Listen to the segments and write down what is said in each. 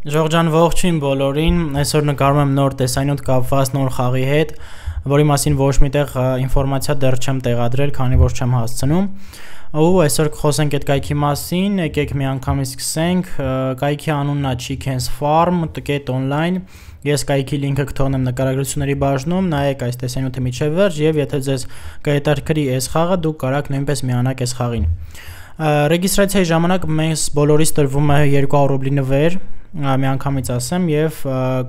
Ժողջան ողջույն բոլորին, այսօր նկարում եմ նոր տեսանյութ կապված նոր խաղի հետ, որի մասին ոչ միտեղ ինֆորմացիա դեռ չեմ տեղադրել, քանի որ չեմ հասցնում։ Ու այսօր կխոսենք այդ կայքի մասին, եկեք միանգամից սկսենք։ Կայքի անունն է Chickens Farm.online։ Ես կայքի լինքը կթողնեմ նկարագրությունների բաժնում, նայեք այս տեսանյութը մինչև վերջ, եւ եթե ձեզ կհետաքրքրի այս խաղը, դուք կարող նույնպես միանաք այս խաղին։ Ռեգիստրացիայի ժամանակ մեզ բոլորիս տրվում է 200 ռուբլի նվեր, միանգամից ասեմ, եւ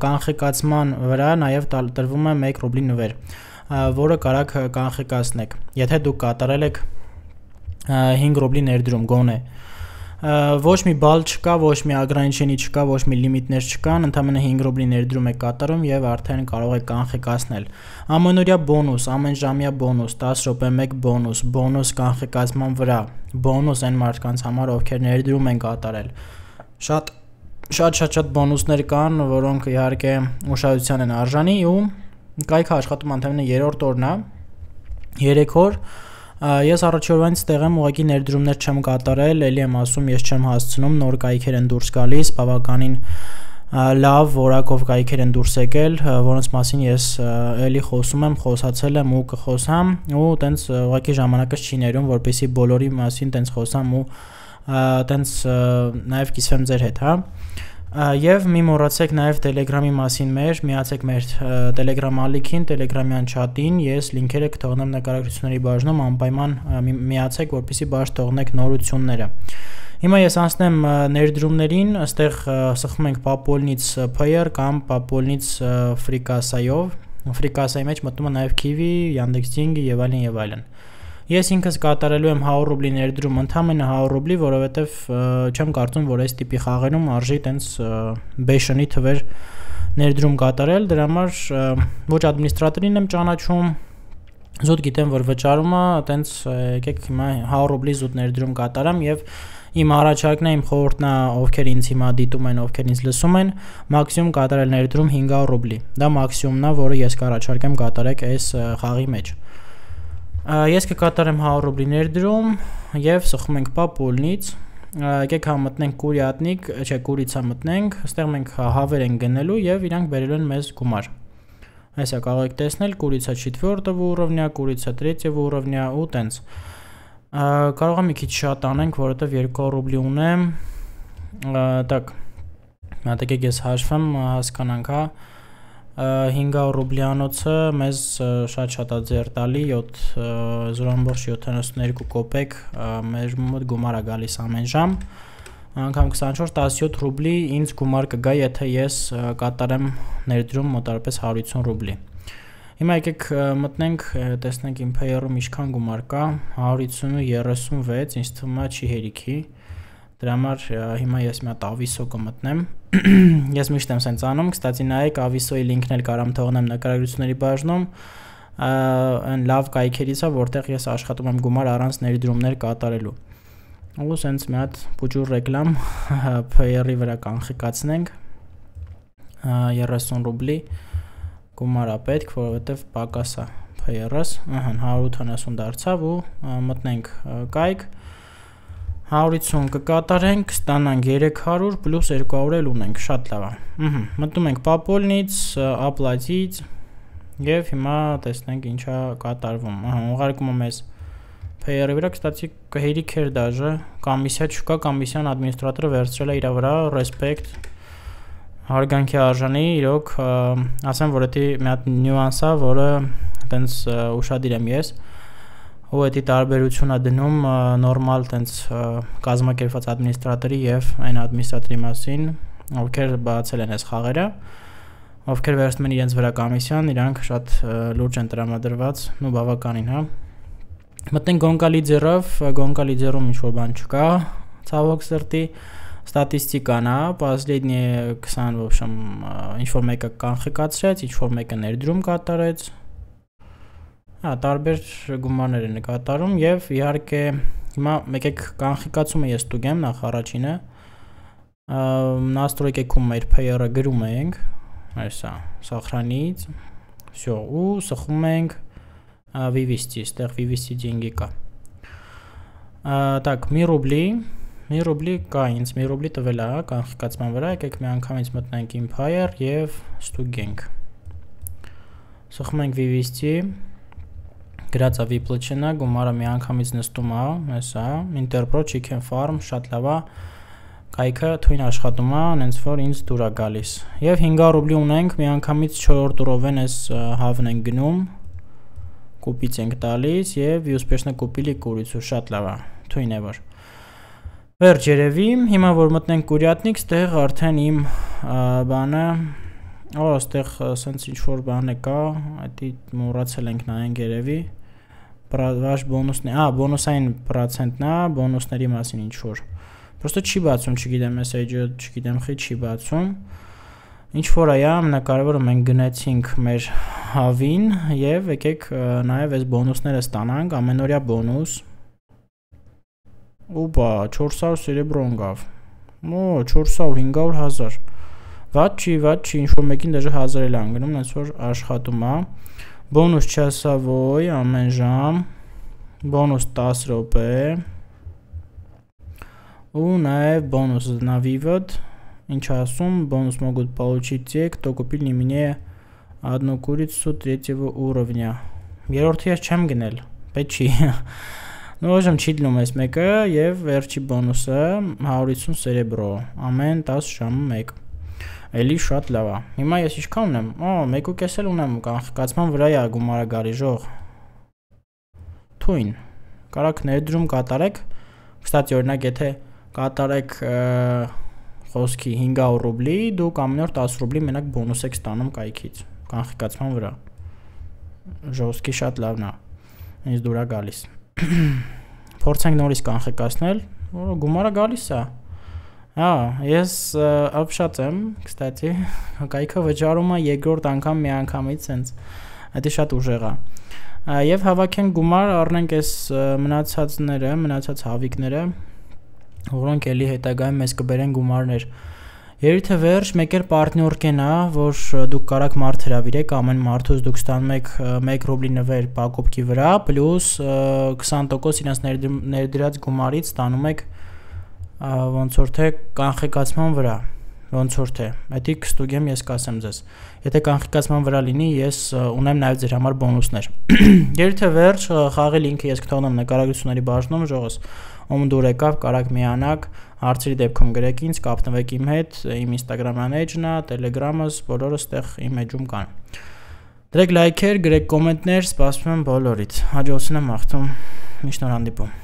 կանխիկացման վրա նաեւ տրվում է 1 ռուբլի նվեր, որը կարող կանխիկացնեք, եթե դուք կատարել եք 5 ռուբլի ներդրում գոնե։ Ոչ մի բալ չկա, ոչ մի ագրանիչենի չկա, ոչ մի լիմիտներ չկան, ընդամենը 5 ռուբլի ներդրում եք կատարում եւ արդեն կարող եք կանխիկացնել։ Ամենօրյա բոնուս, ամենժամյա բոնուս, 10 րոպե 1 բոնուս, բոնուս կանխիկացման վրա, բոնուս այն մարդկանց համար, ովքեր ներդրում են կատարել։ Շատ բոնուսներ կան, որոնք իհարկե ուշադրության են արժանի, ու կայքը աշխատում ընդամենը 3-րդ օրն է, 3 օր։ Ես առաջի օրվանից ստեղ եմ, ուղղակի ներդրումներ չեմ կատարել, ելի եմ ասում, ես չեմ հասցնում, նոր կայքեր են դուրս գալիս, բավականին լավ որակով կայքեր են դուրս եկել, որոնց մասին ես ելի խոսում եմ, խոսացել եմ ու կխոսամ, ու տենց ուղղակի ժամանակս չի ներում, որպեսզի բոլորի մասին տենց խոսամ ու տենց նաև կիսվեմ ձեր հետ, հա։ Եվ մի մոռացեք նաև Telegram-ի մասին միացեք մեր Telegram ալիքին, Telegram-յան չաթին, ես լինքերը կթողնեմ նկարագրությունների բաժնում, անպայման միացեք, որպեսզի բաց թողնեք նորությունները։ Հիմա ես անցնեմ ներդրումներին, այստեղ սխում ենք Popolnits PR կամ Popolnits Frikasayով, Frikasay մեջ մտնում է նաև Kiwi, Yandex.Ding եւ այլն եւ այլն։ Ես ինքս կատարելու եմ 100 ռուբլի ներդրում, ընդամենը 100 ռուբլի, որովհետև չեմ կարծում, որ այս տիպի խաղերում արժի տենց բեշնի թվեր ներդրում կատարել, դրա համար ոչ ադմինիստրատորին եմ ճանաչում, զուտ գիտեմ, որ վճարումը տենց եկեք հիմա 100 ռուբլի զուտ ներդրում կատարեմ եւ իմ առաջարկն է, իմ խորհուրդն է, ովքեր ինձ հիմա դիտում են, ովքեր ինձ լսում են, մաքսիմում կատարել ներդրում 500 ռուբլի։ Դա մաքսիմումն է, որը ես կառաջարկեմ կատարեք այս խաղի մեջ։ Ես կկատարեմ 100 ռուբլի ներդրում եւ սխում ենք Popolnits, եկեք համտնենք Կուրյատնիկ, չէ, Կուրիցա մտնենք, այստեղ մենք հավեր ենք գնելու եւ իրանք բերելու են մեզ գումար։ Այսա կարող եք տեսնել Կուրիցա 4-րդ уровня, Կուրիցա 3-րդ уровня ու տենց։ Կարող եմ մի քիչ շատ անենք, որովհետեւ 200 ռուբլի ունեմ։ Так, մտածեք ես հաշվեմ, հասկանանք, հա։ 500 ռուբլյանոցը մեզ շատ է ձեռ տալի 0.72 կոպեկ մեր մոտ գումար է գալիս ամեն ժամ, անգամ 24-17 ռուբլի ինձ գումար կգա, եթե ես կատարեմ ներդրում մոտարապես 150 ռուբլի։ Հիմա եկեք մտնենք, տեսնենք իմ Payer-ում ինչքան գումար կա, 150.36, ինձ թվում է չի հերիքի։ Դրա համար հիմա ես մի հատ Aviso կմտնեմ։ Ես միշտ եմ սենց անում, կստացի նայեք Aviso-ի լինքն էլ կարամ թողնեմ նկարագրությունների բաժնում, այն լավ կայքերից է, որտեղ ես աշխատում եմ գումար առանց ներդրումներ կատարելու։ Ու սենց մի հատ փուջուր ռեկլամ Payer-ի վրա կանխիկացնենք 30 ռուբլի գումար է պետք, որովհետև պակաս է Payer-ս, 180 դարձավ ու մտնենք կայք 150 կկատարենք, կստանանք 300 պլյուս 200 էլ ունենք, շատ լավ է։ Մտնում ենք Popolnits, Oplatit եւ հիմա տեսնենք ինչա կատարվում։ Ուղարկումը մեզ Payer-ի վրա, կստացի հերիք էր դաժե, կոմիսիա չկա, կոմիսիան ադմինիստրատորը վերցրել է իր վրա, ռեսպեկտ, հարգանքի արժանի, իրոք, ասեմ, որ դա մի հատ նյուանս է, որը տենց ուշադիր եմ ես։ Ու դա տարբերություն է դնում նորմալ տենց կազմակերպված ադմինիստրատորի եւ այն ադմինիստրատորի մասին, ովքեր բացել են այս խաղերը, ովքեր վերցնում են իրենց վրա կոմիսիան, իրանք շատ լուրջ են տրամադրված, ու բավականին, հա։ Մտնենք Gonka-Lider-ում ինչ որ բան չկա, ցավոք սրտի, ստատիստիկան է, последние 20, в общем, ինչ որ մեկը կանխիկացրեց, ինչ որ մեկը ներդրում կատարեց։ Տարբեր գումարներ են կատարում եւ իհարկե հիմա եկեք կանխիկացումը ես ստուգեմ նախ առաջինը настройкում մեր Payer-ը գրում ենք այսա сохранить всё ու սխում ենք Vivesti, այստեղ Vivesti деньги կա Так, մի ռուբլի 1 ռուբլի կա, ինձ 1 ռուբլի տվել է, կանխիկացման վրա, եկեք մի անգամից մտնենք Empire եւ ստուգենք։ Սխում ենք VVST, գրած է VPLCN-ը, գումարը մի անգամից նստում է, հեսա, Interpro Chicken Farm, շատ լավ է, կայքը թույն աշխատում է, հենց որ ինձ դուր է գալիս։ Եվ 500 ռուբլի ունենք, մի անգամից 4-րդ տուրով են էս հավն ենք գնում, կուպից ենք տալիս եւ ուспешно կուպիլի կուրիցու, շատ լավ է, թույն է որ։ Վերջ երևի, հիմա որ մտնենք Կուրյատնիկ, ստեղ արդեն իմ բանը, ստեղ սենց ինչ-որ բան է կա, այդի մոռացել ենք նայենք երևի, վաշ բոնուսն է, բոնուսային պրոցենտն է, բոնուսների մասին ինչ-որ, պրոստը չի բացում, չգիտեմ, message-ը, չգիտեմ խի չի բացում, ինչ-որ այա, ամենակարևորը մենք գնացինք մեր հավին և եկեք նաև այս բոնուսները ստանանք, ամենօրյա բոնուս, Ուպա, 400 սերեբրո ընկավ, 400, 500 հազար, վատ չի, ինչ-որ մեկին դեժը հազար էլ անգնում, նենց որ աշխատում է, բոնուս չասավոյ, ամեն ժամ, բոնուս 10 ռոպե, ու նաև բոնուս на вывод, ինչ ասում, бонус могут получить те, кто купил не менее одну курицу 3-го уровня, երորդի ես չեմ գնել, պետք չի, Ну, ոժմ չի դնում ես մեկը և վերջի բոնուսը 150 սերեբրո, ամեն 10 ժամը 1, էլի շատ լավ է, հիմա ես ինչքան ունեմ, 1.5 էլ ունեմ, կանխիկացման վրա է գումարը գալի ժող, թույն, կարաք ներդրում կատարեք, կստացի օրինակ եթե կատարեք խոսքի 500 ռուբլի, դուք ամեն օր 10 ռուբլի մենակ բոնուս եք ստանում կայքից, կանխիկացման վրա, ժողսկի շատ լավն է, ինձ դուր է գալիս, փորձենք նորից կանխիկացնել, գումարը գալիս է, ես ապշած եմ, կստացի, կայքը վճարում է երկրորդ անգամ մի անգամից սենց, այդի շատ ուժեղ է, և հավաքենք գումար, առնենք ես մնացած հավիկները, որոնք էլի հետագայում մեզ կբերեն գումարներ, երիթե վերջ մեկ էլ պարտնյոր կենա, որ դուք կարաք մարդ հրավիրեք, ամեն մարդուց դուք ստանում եք 1 ռուբլի նվեր պակոպքի վրա, պլյուս 20% իրենց ներդրած գումարից ստանում եք ոնց որ թե կանխիկացման վրա, ոնց որ թե, հետի կստուգեմ ես կասեմ ձեզ, եթե կանխիկացման վրա լինի, ես ունեմ նաև ձեր համար բոնուսներ, երիթե վերջ խաղի լինքը ես կթողնեմ նկարագրությունների բաժնում, ժողս, ում դուր եկավ, կարաք միանաք, հարցերի դեպքում գրեք ինձ, կապնվեք իմ հետ, իմ Instagram-ան էջն է, Telegram-ս, բոլորը ստեղ իմ էջում կան։ Դրեք լայքեր, գրեք կոմենտներ, սպասում եմ բոլորից։ Հաջողություն եմ մաղթում, միշտ նոր հանդիպում։